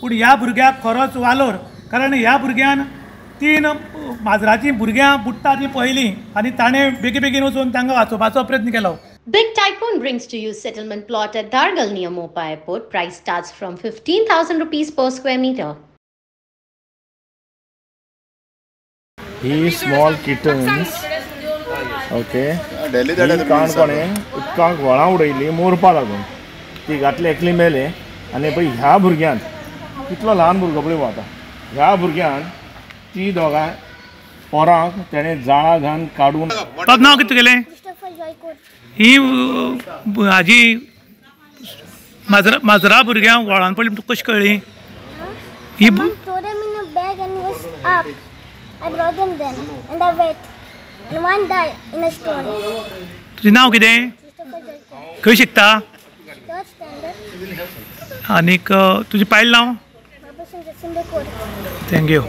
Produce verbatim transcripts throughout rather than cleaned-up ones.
पूण ह्या भुरग्याक खरोच वालोर, कारण ह्या भुरग्यान तीन माजराचीं भुरग्यां बुडटा तीं पळयलीं आनी ताणें बेगीन बेगीन वचून तांकां वाचोवपाचो प्रयत्न केलो. Big Tycoon brings to you settlement plot at Dhargal near Mopa Airport. Price starts from fifteen thousand rupees per square meter. He small kittens. Okay. काणकोणे उदकांक व्हळां उडयली मोरपा लागून ती घातली एकली मेले. आनी पळय ह्या भुरग्यान कितलो ल्हान भुरगो पळय आतां ह्या भुरग्यान ती दोगां पोरांक तेणें जाळां घालून काडून. नांव कितें तुगेलें? ही हाजी माजरा माजरा भुरग्यांक व्हळान पडली तुका कशी कळ्ळी? ही तुजें नांव कितें? खंय शिकता? आनीक तुजें पायल नांव? Thank you.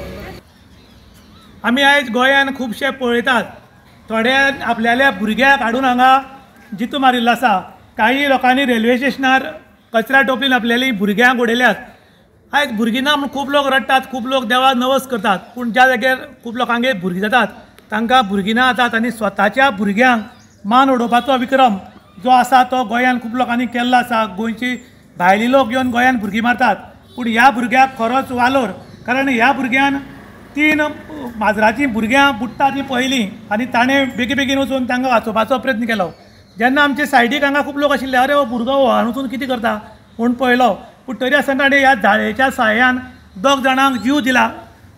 आमी आयज गोंयान खुबशे पळयतात, थोडे आपल्याल्या भुरग्याक हाडून हांगा जितो मारिल्लो आसा, काही लोकांनी रेल्वे स्टेशनार कचऱ्या टोपलीन आपल्याली भुरग्यांक उडयल्यात. आयज भुरगीं ना म्हूण खूब लोक रडटात, खूब लोक देवाक नवस करतात, पूण ज्या जाग्यार खूब लोकांगेर भुरगीं जातात तांकां भुरगीं ना जातात आनी स्वताच्या भुरग्यांक मान उडोवपाचो विक्रम जो आसा तो गोंयान खूब लोकांनी केल्लो आसा. गोंयची भायली लोक येवन गोंयान भुरगीं मारतात, पूण ह्या भुरग्याक खरोच वालोर, कारण ह्या भुरग्यान तीन माजराचीं भुरग्यां बुडटा तीं पळयलीं आनी ताणें बेगीन बेगीन वचून तांकां वाचोवपाचो प्रयत्न केलो. जेन्ना आमचे सायडीक हांगा खूब लोक आशिल्ले, अरे हो भुरगो व्हाळान वचून कितें करता म्हूण पळयलो, पूण तरी आसतना ताणें ह्या जाळयेच्या साहाय्यान दोग जाणांक जीव दिला,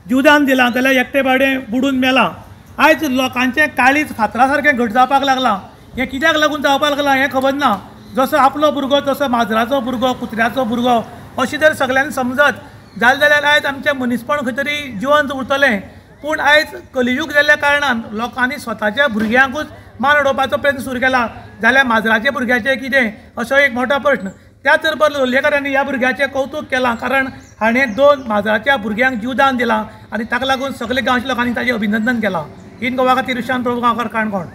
जिवदान दिलां, जाल्यार एकटे बावडे बुडून मेलां. आयज लोकांचें काळीज फातरा सारकें घट जावपाक लागलां. हें कित्याक लागून जावपाक लागलां हें खबर ना. जसो आपलो भुरगो तसो माजराचो भुरगो, कुत्र्याचो भुरगो अशें जर सगल्यांनी समजत जालें जाल्यार आयज आमचें मनीसपण खंय तरी जिवंत उरतलें. पूण आयज कलियूग जाल्ल्या कारणान लोकांनी स्वताच्या भुरग्यांकूच मान उडोवपाचो प्रयत्न सुरू केला, जाल्यार माजराच्या भुरग्याचें कितें असो एक मोठो प्रश्न. त्याच बरोबर लोलयेकारांनी ह्या भुरग्याचें कौतूक केलां, कारण हाणें दोन माजराच्या भुरग्यांक जिवदान दिलां आनी ताका लागून सगळे गांवच्या लोकांनी ताचें अभिनंदन केलां. इन गोवा खातीर ईशान प्रभू गांवकार, काणकोण.